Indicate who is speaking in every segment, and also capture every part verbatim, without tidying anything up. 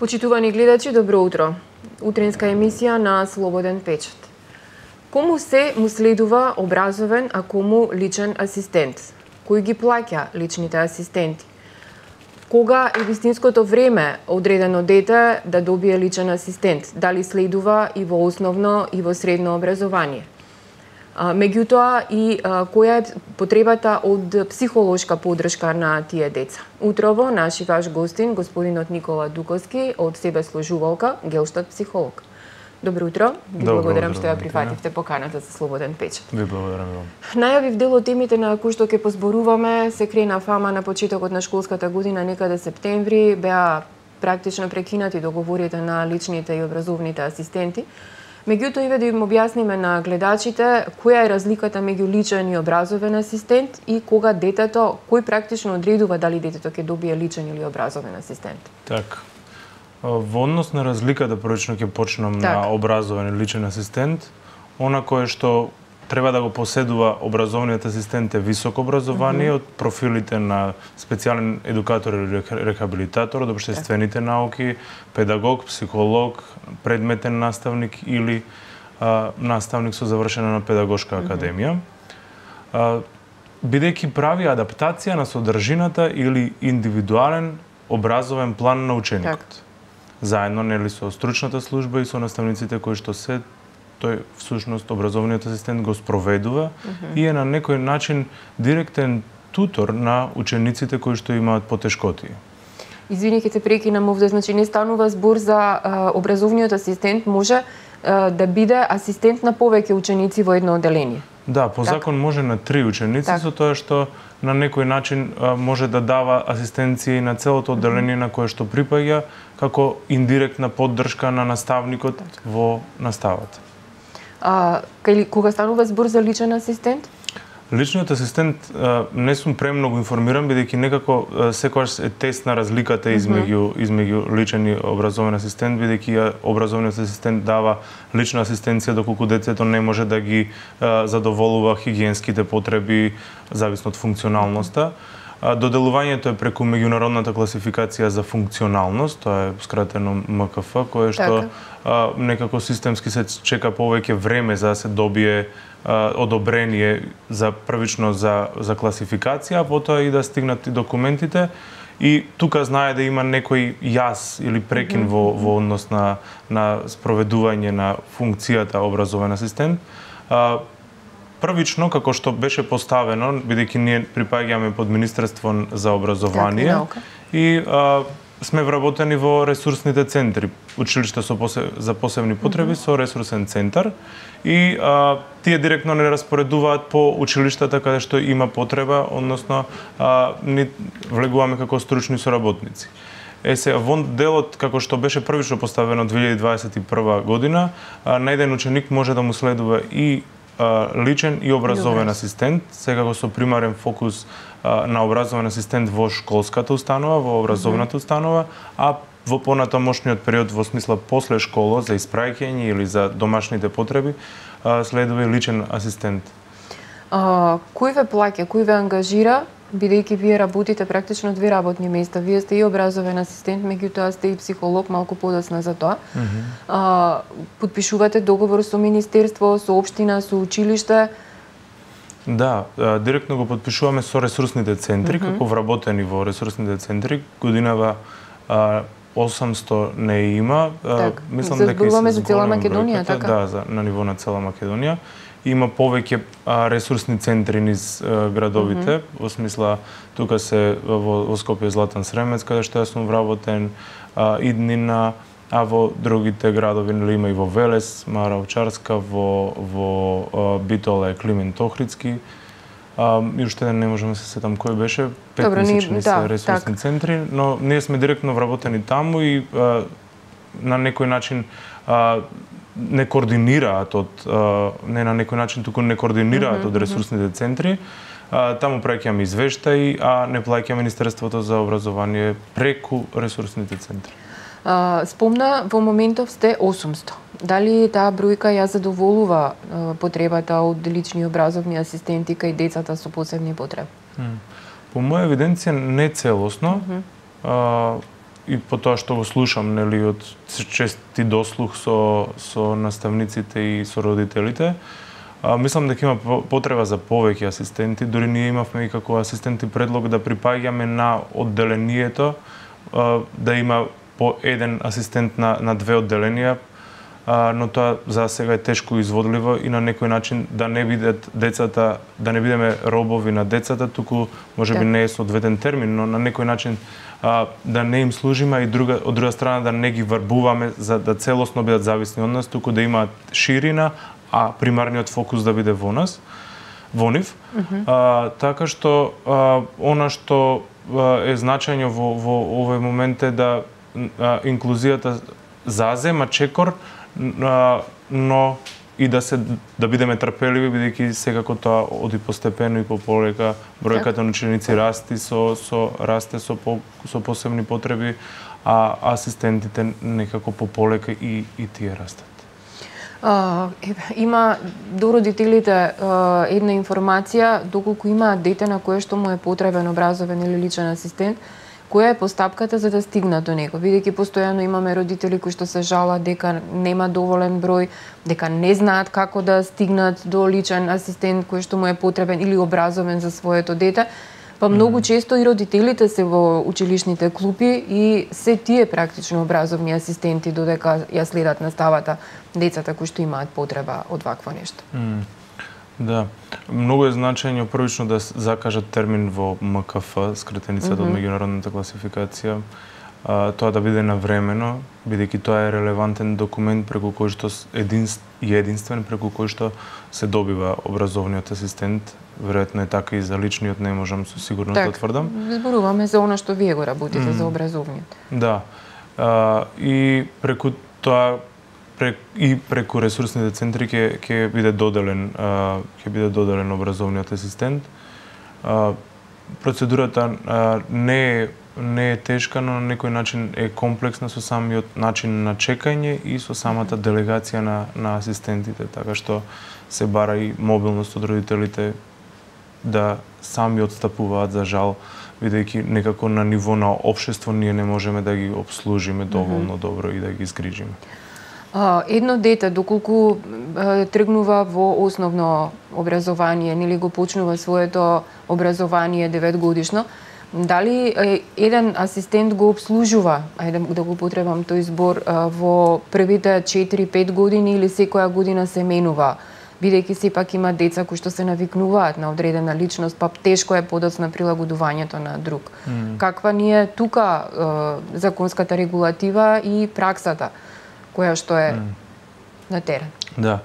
Speaker 1: Почитувани гледачи, добро утро. Утренска емисија на Слободен печат. Кому се му следува образовен, а кому личен асистент? Кој ги плаќа личните асистенти? Кога е вистинското време одредено дете да добие личен асистент? Дали следува и во основно и во средно образование? Меѓутоа и а, која е потребата од психолошка поддршка на тие деца? Утрово наши ваш гостин, господинот Никола Дуковски од себеслужувалка, гелштат психолог. Добро утро. Ви благодарам што ја прифативте поканата за Слободен печат.
Speaker 2: Ви благодарам вам.
Speaker 1: Најавив дел од темите на кои што ќе позборуваме, се крена фама на почетокот на школската година, некаде септември, беа практично прекинати договорите на личните и образовните асистенти. Меѓутоа, и да им објасниме на гледачите која е разликата меѓу личен и образовен асистент и кога детето, кој практично одредува дали детето ќе добие личен или образовен асистент.
Speaker 2: Така. Во однос на разликата, првично ќе почнам
Speaker 1: так.
Speaker 2: на образовен и личен асистент. Она кое што треба да го поседува образовниот асистент е високо образование mm -hmm. од профилите на специјален едукатор или рехабилитатор од општествените науки, педагог, психолог, предметен наставник или а, наставник со завршена на педагошка академија. Mm -hmm. Бидејќи прави адаптација на содржината или индивидуален образовен план на ученикот. Так. Заедно нели со стручната служба и со наставниците кои што се тој всушност образовниот асистент го спроведува mm -hmm. и е на некој начин директен тутор на учениците кои што имаат потешкоти.
Speaker 1: Извини, ќе те прекинам овде, значи не станува збор за а, образовниот асистент, може а, да биде асистент на повеќе ученици во едно оделение.
Speaker 2: Да, по так. закон може на три ученици, так. со тоа што на некој начин а, може да дава асистенција на целото оделение mm -hmm. на кое што припаѓа како индиректна поддршка на наставникот так. во наставата.
Speaker 1: А, кај, кога станува збор за личен асистент?
Speaker 2: Личниот асистент а, не сум премногу информиран, бидејќи некако а, секогаш е тесна разликата измеѓу измеѓу личен и образовен асистент, бидејќи образовниот асистент дава лична асистенција доколку детето не може да ги а, задоволува хигиенските потреби зависно од функционалноста. Доделувањето е преку меѓународната класификација за функционалност, тоа е скратено М К Ф, кое што а, некако системски се чека повеќе време за да се добие а, одобрение за првично за за класификација, а потоа и да стигнат и документите. И тука знае да има некој јас или прекин mm -hmm. во во однос на на спроведување на функцијата образовен асистент. А, Првично, како што беше поставено, бидејќи ние припаѓаме под Министерство за образование
Speaker 1: так,
Speaker 2: и а, сме вработени во ресурсните центри, училишта со посеб... за посебни потреби mm -hmm. со ресурсен центар и а, тие директно не распоредуваат по училиштата каде што има потреба, односно а, ни влегуваме како стручни соработници. Е сега, во делот, како што беше првично поставено две илјади дваесет и прва година, а, на еден ученик може да му следува и личен и образовен Добре. асистент, секако со примарен фокус а, на образовен асистент во школската установа, во образовната mm -hmm. установа, а во понатамошниот период во смисла после школа за испраќање или за домашните потреби а, следува и личен асистент.
Speaker 1: А, кој ве плаќа, кој ве ангажира, бидејќи вие работите практично две работни места, вие сте и образовен асистент, меѓутоа сте и психолог, малку подоцна за тоа. Mm -hmm. а, подпишувате договор со министерство, со општина, со училиште?
Speaker 2: Да, директно го подпишуваме со ресурсните центри, mm -hmm. како вработени во ресурсните центри. Годинава а, осамсто не има.
Speaker 1: Так, мислам дека се за цела Македонија, така?
Speaker 2: Да, за, на ниво на цела Македонија. Има повеќе а, ресурсни центри низ а, градовите, mm -hmm. во смисла тука се во, во Скопје Златан Сремец, каде што јас сум вработен, а, Иднина, а во другите градови нели има и во Велес, Мара Овчарска, во во а, Битоле, Климент Охридски. А, и уште не можеме да се сетам кој беше, петмесечни се да, ресурсни так. центри, но ние сме директно вработени таму и а, на некој начин а, не координираат од не на некој начин туку не координираат mm -hmm, од ресурсните центри. А, таму праќаме извештаи, а не плаќа Министерството за образование преку ресурсните центри.
Speaker 1: А, спомна во моментов сте осумсто. Дали таа бројка ја задоволува а, потребата од лични образовни асистенти кај децата со посебни потреби?
Speaker 2: Mm. По моја евиденција не целосно. Mm -hmm. а, и по тоа што го слушам, нели, од чести дослух со со наставниците и со родителите, а, мислам дека има потреба за повеќе асистенти. Дури ние имавме и како асистенти предлог да припаѓаме на одделението, а, да има по еден асистент на на две одделенија, а, но тоа за сега е тешко изводливо и на некој начин да не бидат децата, да не бидеме робови на децата, туку можеби не е соодветен термин, но на некој начин а, да не им служиме и друга од друга страна да не ги варбуваме за да целосно бидат зависни од нас, туку да имаат ширина, а примарниот фокус да биде во нас, во нив. Mm-hmm. А, така што а, она што а, е значајно во во овој момент е да а, инклузијата зазема чекор, а, но и да се да бидеме трпеливи, бидејќи секако тоа оди постепено и пополека, бројката на ученици расти со со расте со по, со посебни потреби, а асистентите некако пополека и и тие растат.
Speaker 1: Uh, има до родителите uh, една информација доколку има дете на кое што му е потребен образовен или личен асистент, која е постапката за да стигнат до него, бидејќи постојано имаме родители кои што се жалат дека нема доволен број, дека не знаат како да стигнат до личен асистент кој што му е потребен или образовен за своето дете. Па многу често и родителите се во училишните клупи и се тие практично образовни асистенти додека ја следат наставата децата кои што имаат потреба од вакво нешто.
Speaker 2: Mm. Да, многу е значајно првично да закажат термин во М К Ф, скратеницата mm-hmm. од меѓународната класификација, а, тоа да биде навремено, бидејќи тоа е релевантен документ преку кој што единст, и единствен преку кој што се добива образовниот асистент. Веројатно е така и за личниот, не можам со сигурност
Speaker 1: так,
Speaker 2: да тврдам.
Speaker 1: Зборуваме за она што вие го работите, mm. за образовниот.
Speaker 2: Да. А, и преку тоа прек, и преку ресурсните центри ќе ќе биде доделен а, ќе биде доделен образовниот асистент. А, процедурата а, не е не е тешка, но на некој начин е комплексна со самиот начин на чекање и со самата делегација на на асистентите, така што се бара и мобилност од родителите да сами отстапуваат, за жал, бидејќи некако на ниво на општество ние не можеме да ги обслужиме доволно mm-hmm. добро и да ги згрижиме.
Speaker 1: Uh, едно дете, доколку uh, тргнува во основно образование, нели го почнува своето образование девет годишно, дали uh, еден асистент го обслужува, ајде да го потребам тој збор, uh, во првите четири-пет години или секоја година се менува? Бидејќи сепак има деца кои што се навикнуваат на одредена личност, па тешко е подоцна прилагодувањето на друг. Mm. Каква ни е тука е, законската регулатива и праксата која што е mm. на терен?
Speaker 2: Да.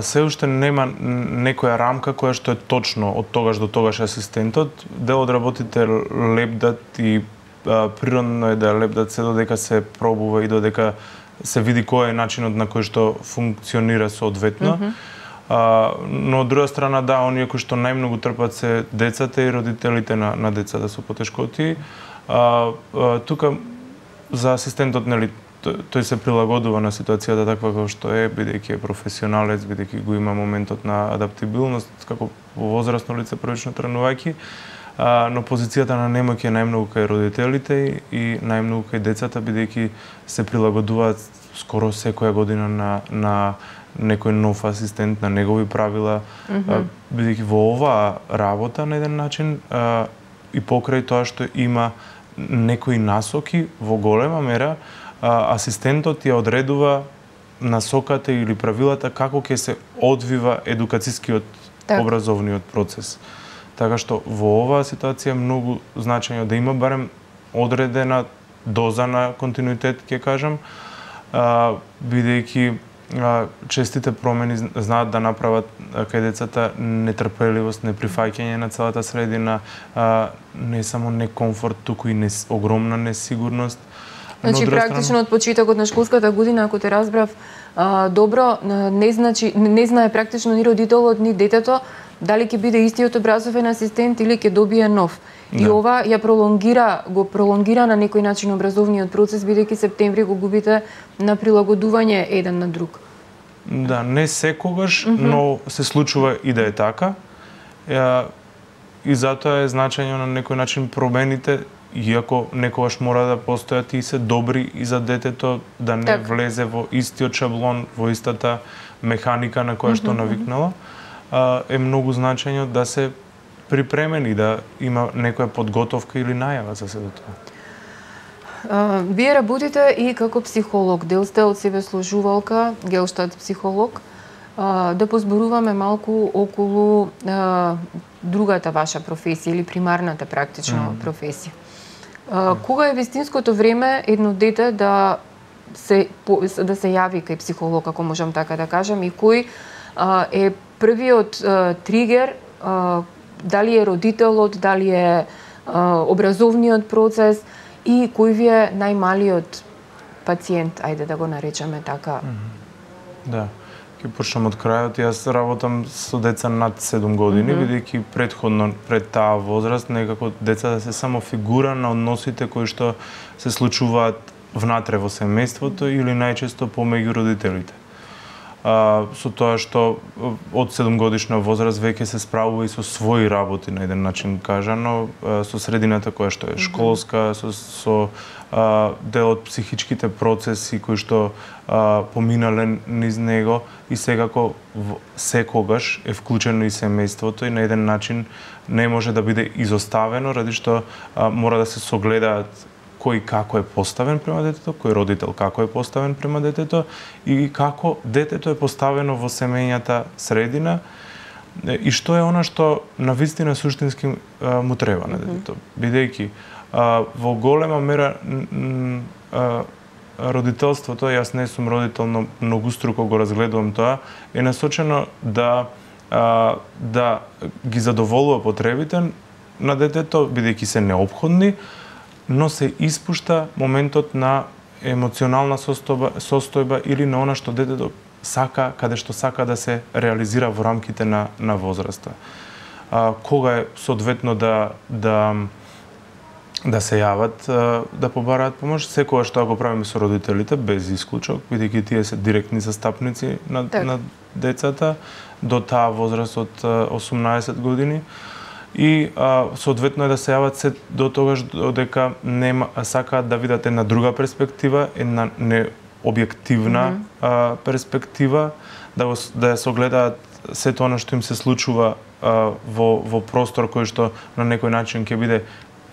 Speaker 2: Се уште нема некоја рамка која што е точно од тогаш до тогаш асистентот. Дел од работите лепдат и а, природно е да лепдат се додека се пробува и додека се види кој е начинот на кој што функционира соодветно. Mm-hmm. А, но од друга страна, да, оние кои што најмногу трпат се децата и родителите на, на децата со потешкоти. А, а, тука за асистентот, нели, тој, тој се прилагодува на ситуацијата таква како што е, бидејќи е професионалец, бидејќи го има моментот на адаптибилност, како возрастно лице првично тренувајќи, а, но позицијата на немоќ е најмногу кај родителите и најмногу кај децата, бидејќи се прилагодуваат скоро секоја година на, на некој нов асистент, на негови правила, mm-hmm. бидејќи во оваа работа на еден начин а, и покрај тоа што има некои насоки во голема мера, а, асистентот ја одредува насоката или правилата како ќе се одвива едукацискиот так. образовниот процес. Така што во оваа ситуација е многу значајно да има барем одредена доза на континуитет, ќе кажам, а, бидејќи честите промени знаат да направат кај децата нетрпеливост, неприфаќање на целата средина, не само некомфорт, туку и не, огромна несигурност.
Speaker 1: Значи, практично страна... од почетокот на школската година, ако те разбрав а, добро, не значи не знае практично ни родителот, ни детето дали ќе биде истиот образовен асистент или ќе добие нов. И да. ова ја пролонгира, го пролонгира на некој начин образовниот процес, бидејќи септември го губите на прилагодување еден на друг.
Speaker 2: Да, не секогаш, mm-hmm. но се случува и да е така. И затоа е значајно на некој начин промените иако некогаш мора да постојат и се добри и за детето, да не
Speaker 1: так.
Speaker 2: влезе во истиот шаблон, во истата механика на која што навикнала, а, е многу значајно да се припремени, да има некоја подготовка или најава за се до тоа.
Speaker 1: А, вие работите и како психолог, дел сте од себе служувалка, гелштадт психолог. А, да позборуваме малку околу а, другата ваша професија или примарната практично mm. професија. А, кога е вистинското време едно дете да се да се јави кај психолог, ако можам така да кажам, и кој а, е првиот а, тригер, а, дали е родителот, дали е а, образовниот процес и кој ви е најмалиот пациент, ајде да го наречеме така.
Speaker 2: Mm. Да. Ќе почнам од крајот. Јас работам со деца над седум години, mm -hmm. бидејќи претходно пред таа возраст некако децата се само фигура на односите кои што се случуваат внатре во семејството или најчесто помеѓу родителите. А, со тоа што од седумгодишна возраст веќе се справува и со своји работи на еден начин кажано, со средината која што е школска, со, со а, дел од психичките процеси кои што а, поминале низ него и секако секогаш е вклучено и семејството и на еден начин не може да биде изоставено, ради што а, мора да се согледаат кој како е поставен према детето, кој родител како е поставен према детето и како детето е поставено во семејната средина и што е она што навистина суштински а, му треба на детето. Бидејќи а, во голема мера а, родителството, јас не сум родител, но многуструко го разгледувам тоа, е насочено да а, да ги задоволува потребите на детето, бидејќи се неопходни, но се испушта моментот на емоционална состојба, состојба или на она што детето сака, каде што сака да се реализира во рамките на, на возраста. А, кога е соодветно да, да, да се јават, да побараат помош, секогаш што го правиме со родителите, без исклучок, бидејќи тие се директни застапници на, на децата до таа возраст од осумнаесет години. И а, соодветно е да се јават се до тогаш додека нема сакаат да видат една друга перспектива, една необјективна mm -hmm. а, перспектива, да го, да ја согледаат сето она што им се случува а, во во простор кој што на некој начин ќе биде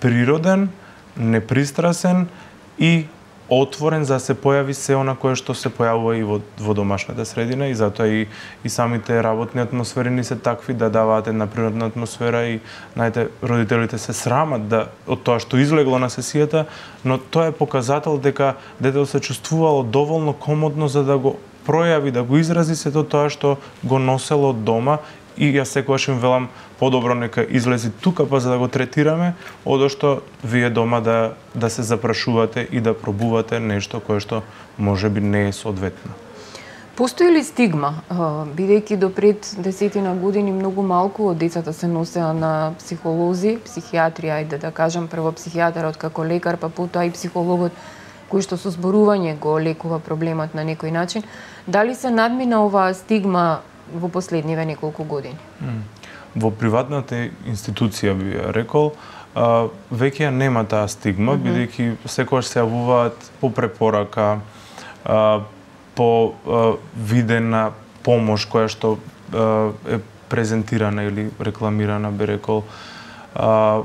Speaker 2: природен, непристрасен и отворен за да се појави се она кое што се појавува и во, во домашната средина и затоа и, и самите работни атмосфери ни се такви да даваат една природна атмосфера и најте родителите се срамат да од тоа што излегло на сесијата, но тоа е показател дека детето се чувствувало доволно комодно за да го пројави, да го изрази сето тоа што го носело од дома и јас секогаш им велам подобро нека излези тука па за да го третираме, одошто вие дома да да се запрашувате и да пробувате нешто кое што можеби не е соодветно.
Speaker 1: Постои ли стигма, бидејќи до пред десетина години многу малку од децата се носеа на психолози, психијатри, ајде да кажам, прво психијатарот како лекар, па потоа и психологот кој што со зборување го лекува проблемот на некој начин. Дали се надмина оваа стигма во последниве неколку години?
Speaker 2: Во приватната институција би ја рекол, а, веќе нема таа стигма, mm -hmm. бидејќи секогаш се јавуваат по препорака, а, по а, видена помош која што а, е презентирана или рекламирана, би рекол. А,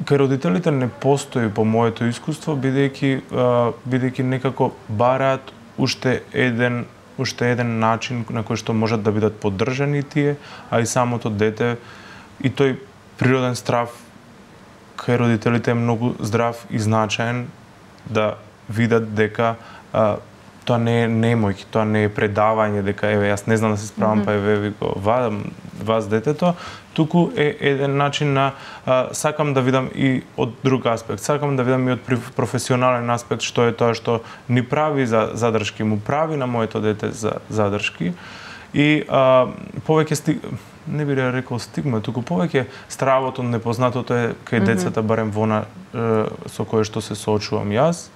Speaker 2: кај родителите не постои по моето искуство, бидејќи бидејќи некако бараат уште еден уште еден начин на кој што можат да бидат поддржани тие, а и самото дете и тој природен страв кај родителите е многу здрав и значаен да видат дека а, тоа не е немојки, тоа не е предавање, дека еве јас не знам да се справам, mm -hmm. па еве ви го вадам вас детето, туку е еден начин на а, сакам да видам и од друг аспект, сакам да видам и од професионален аспект што е тоа што ни прави за задршки, му прави на моето дете за задршки и а, повеќе сти... не би рекол стигма, туку повеќе стравот од непознатото е кај mm -hmm. децата, барем вона со кое што се соочувам јас.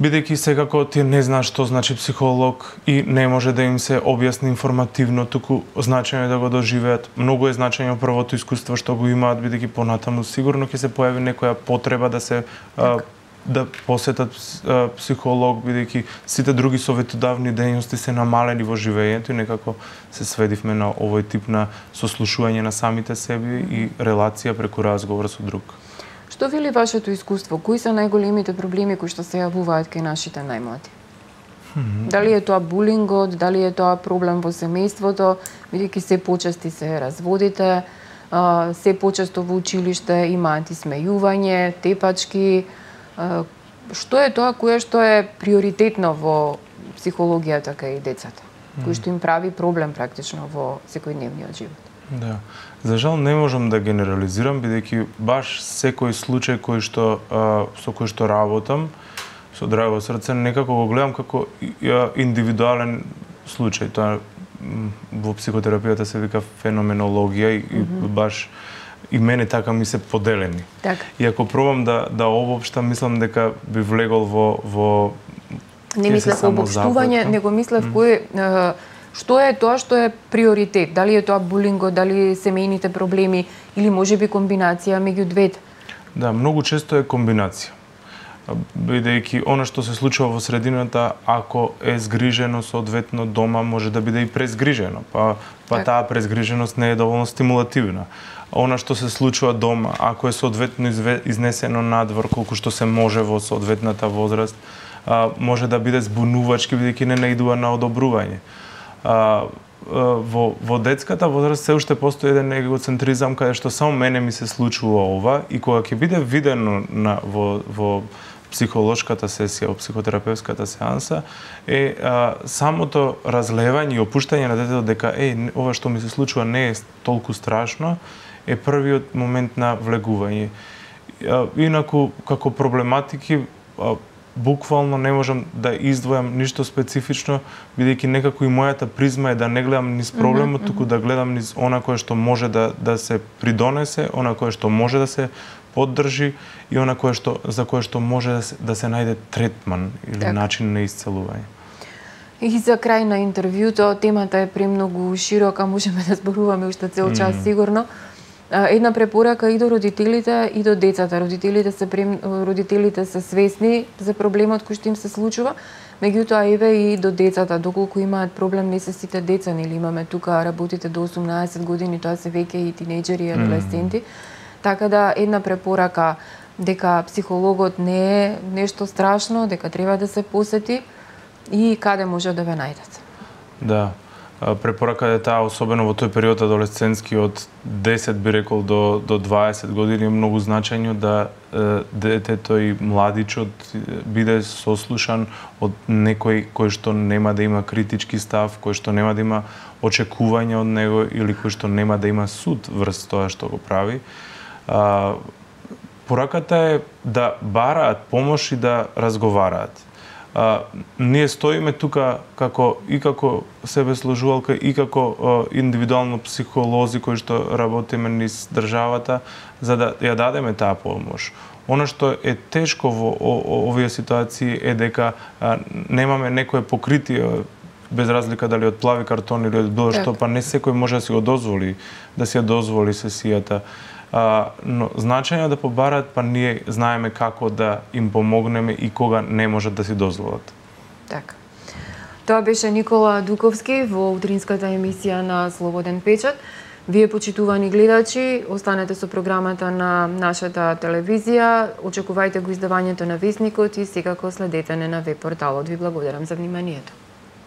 Speaker 2: бидејќи секако тие не знаат што значи психолог и не може да им се објасни информативно, туку значање да го доживеат. Многу е значање првото искуство што го имаат, бидејќи понатаму сигурно ќе се појави некоја потреба да се а, да посетат а, психолог, бидејќи сите други советодавни дејности се намалени во живењето и некако се сведивме на овој тип на сослушување на самите себе и релација преку разговор со друг.
Speaker 1: Што вели вашето искуство? Кои се најголемите проблеми кои што се јавуваат кај нашите најмлади? Mm-hmm. Дали е тоа булингот, дали е тоа проблем во семејството, бидејќи се почести се разводите, се почесто во училиште има антисмејување, тепачки. Што е тоа кое што е приоритетно во психологијата кај децата, mm-hmm. кој што им прави проблем практично во секојдневниот живот?
Speaker 2: Да. За жал не можам да генерализирам, бидејќи баш секој случај кој што а, со кој што работам, со драго срце, некако го гледам како индивидуален случај. Тоа во психотерапијата се вика феноменологија и, mm-hmm. и баш и мене така ми се поделени.
Speaker 1: Така.
Speaker 2: И ако пробам да да обобштам, мислам дека би влегол во во
Speaker 1: Не мислев обобштување, него мислев mm-hmm. кој што е тоа што е приоритет? Дали е тоа булингот, дали семејните проблеми или можеби комбинација меѓу двете?
Speaker 2: Да, многу често е комбинација. Бидејќи она што се случува во средината, ако е згрижено соодветно дома, може да биде и презгрижено, па па таа презгриженост не е доволно стимулативна. Она што се случува дома, ако е соодветно изнесено надвор колку што се може во соодветната возраст, може да биде збунувачки бидејќи не наидува на одобрување. А, во, во детската возраст се уште постои еден егоцентризам каде што само мене ми се случува ова и кога ќе биде видено на, во, во психолошката сесија, во психотерапевската сеанса, е а, самото разлевање и опуштање на детето дека е, ова што ми се случува не е толку страшно, е првиот момент на влегување. А, инаку, како проблематики, а, буквално не можам да издвојам ништо специфично, бидејќи некако и мојата призма е да не гледам низ проблемот, mm-hmm. туку да гледам низ она кое што може да да се придонесе, она кое што може да се поддржи и она кое што за кое што може да се, да се најде третман или так. начин на исцелување.
Speaker 1: И за крај на интервјуто, темата е премногу широка, можеме да зборуваме уште цел час mm-hmm. сигурно. Една препорака и до родителите и до децата. Родителите се прем... родителите се свесни за проблемот кој што им се случува, меѓутоа еве и до децата, доколку имаат проблем, не се сите деца, нели имаме тука работите до осумнаесет години, тоа се веќе и тинејџери и адолесценти. Mm. Така да една препорака дека психологот не е нешто страшно, дека треба да се посети и каде може да ве најдат.
Speaker 2: Да. Препорака е таа, особено во тој период адолесцентски од десет би рекол до до дваесет години, е многу значајно да е, детето и младичот биде сослушан од некој кој што нема да има критички став, кој што нема да има очекувања од него или кој што нема да има суд врз тоа што го прави. А, пораката е да бараат помош и да разговараат. А, ние стоиме тука како и како себеслужувалка и како а, индивидуално психолози кои што работиме низ државата за да ја дадеме таа помош. Она што е тешко во овие ситуации е дека а, немаме некое покритие, без разлика дали од плави картон или од било што, па не секој може да си го дозволи, да си ја дозволи сесијата. А, но значајно да побараат, па ние знаеме како да им помогнеме и кога не можат да си дозволат.
Speaker 1: Така. Тоа беше Никола Дуковски во утринската емисија на Слободен печат. Вие, почитувани гледачи, останете со програмата на нашата телевизија, очекувајте го издавањето на Весникот и секако следете на веб порталот. Ви благодарам за вниманието.